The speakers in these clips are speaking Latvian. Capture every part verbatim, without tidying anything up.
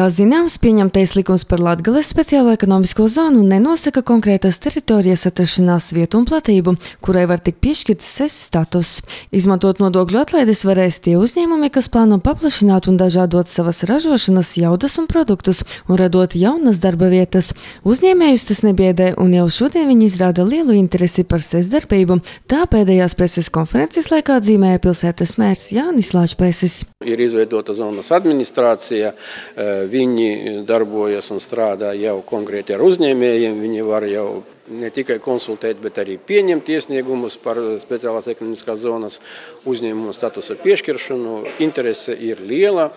Kā zināms, pieņemtais likums par Latgales speciālo ekonomisko zonu nenosaka konkrētas teritorijas atrašanās vietu un platību, kurai var tik piešķirts S E S status. Izmantot nodokļu atlaides varēs tie uzņēmumi, kas plāno paplašināt un dažādot savas ražošanas jaudas un produktus un radot jaunas darba vietas. Uzņēmējus tas nebiedē, un jau šodien viņi izrāda lielu interesi par S E S darbību. Tā pēdējās preses konferences laikā atzīmēja pilsētas mērs Jānis Lāčplēsis. Ir izveidota zonas administrācija, viņi darbojas un strādā jau konkrēti ar uzņēmējiem, viņi var jau ne tikai konsultēt, bet arī pieņemt iesniegumus par speciālās ekonomiskās zonas uzņēmumu statusa piešķiršanu. Interese ir liela,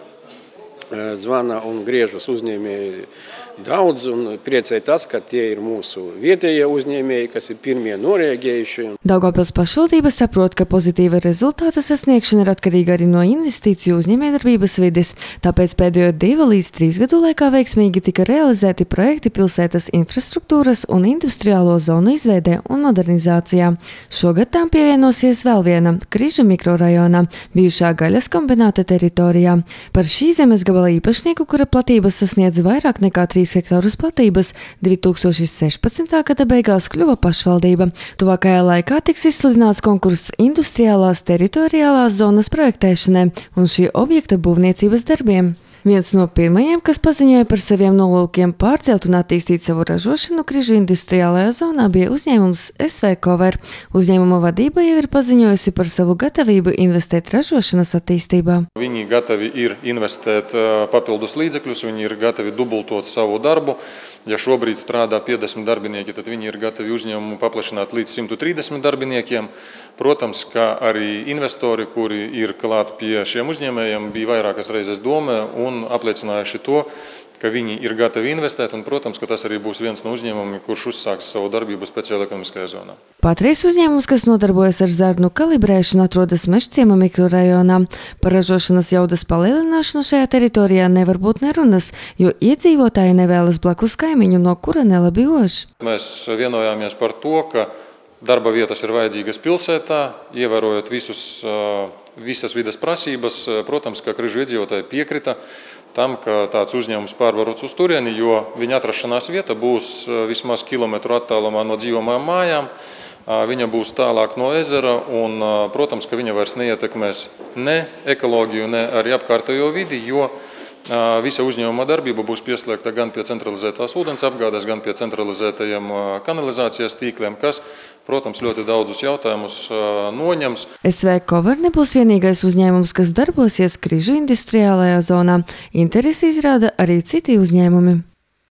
zvana un griežas uzņēmēji daudz, un priecē tas, ka tie ir mūsu vietējie uzņēmēji, kas ir pirmie noreaģējuši. Daugavpils pašvaldība saprot, ka pozitīva rezultāta sasniegšana ir atkarīga arī no investīciju uzņēmējdarbības vides, tāpēc pēdējo divu līdz trīs gadu laikā veiksmīgi tika realizēti projekti pilsētas infrastruktūras un industriālo zonu izveidē un modernizācijā. Šogad tām pievienosies vēl viena – Križu mikrorajonā, bijušā gaļas kombināta teritorijā. Par šī zemes gabala īpašnieku, kura platības sasniedz vairāk nekā trīs hektārus platības, divi tūkstoši sešpadsmitā gada beigās kļuva pašvaldība. Tuvākajā laikā tiks izsludināts konkurss industriālās teritoriālās zonas projektēšanai un šī objekta būvniecības darbiem. Viens no pirmajiem, kas paziņoja par saviem nolūkiem pārcelt un attīstīt savu ražošanu Križu industriālajā zonā, bija uzņēmums S V Cover. Uzņēmuma vadība jau ir paziņojusi par savu gatavību investēt ražošanas attīstībā. Viņi gatavi ir investēt papildus līdzekļus, viņi ir gatavi dubultot savu darbu. Ja šobrīd strādā piecdesmit darbinieki, tad viņi ir gatavi uzņēmumu paplašināt līdz simt trīsdesmit darbiniekiem. Protams, ka arī investori, kuri ir klāt pie šiem uzņēmējiem, bija vairākas reizes domē un apliecinājuši to, ka viņi ir gatavi investēt, un, protams, ka tas arī būs viens no uzņēmumiem, kurš uzsāks savu darbību speciālajā ekonomiskajā zonā. Patreiz uzņēmums, kas nodarbojas ar zarnu kalibrēšanu, atrodas Mežciema mikrorajonā. Par ražošanas jaudas palielināšanu šajā teritorijā nevar būt nerunas, jo iedzīvotāji nevēlas blakus kaimiņu, no kura nelabi ož. Mēs vienojāmies par to, ka darba vietas ir vajadzīgas pilsētā, ievērojot visus, visas vides prasības. Protams, ka Križu iedzīvotāji piekrita tam, ka tāds uzņēmums pārvarots uz turieni, jo viņa atrašanās vieta būs vismaz kilometru attālumā no dzīvojamām mājām, viņa būs tālāk no ezera un, protams, ka viņa vairs neietekmēs ne ekoloģiju, ne arī apkārtējo vidi, jo visa uzņēmuma darbība būs pieslēgta gan pie centralizētās ūdens apgādes, gan pie centralizētajiem kanalizācijas tīkliem, kas, protams, ļoti daudzus jautājumus noņems. S V Cover nebūs vienīgais uzņēmums, kas darbosies Križu industriālajā zonā. Interesi izrāda arī citi uzņēmumi.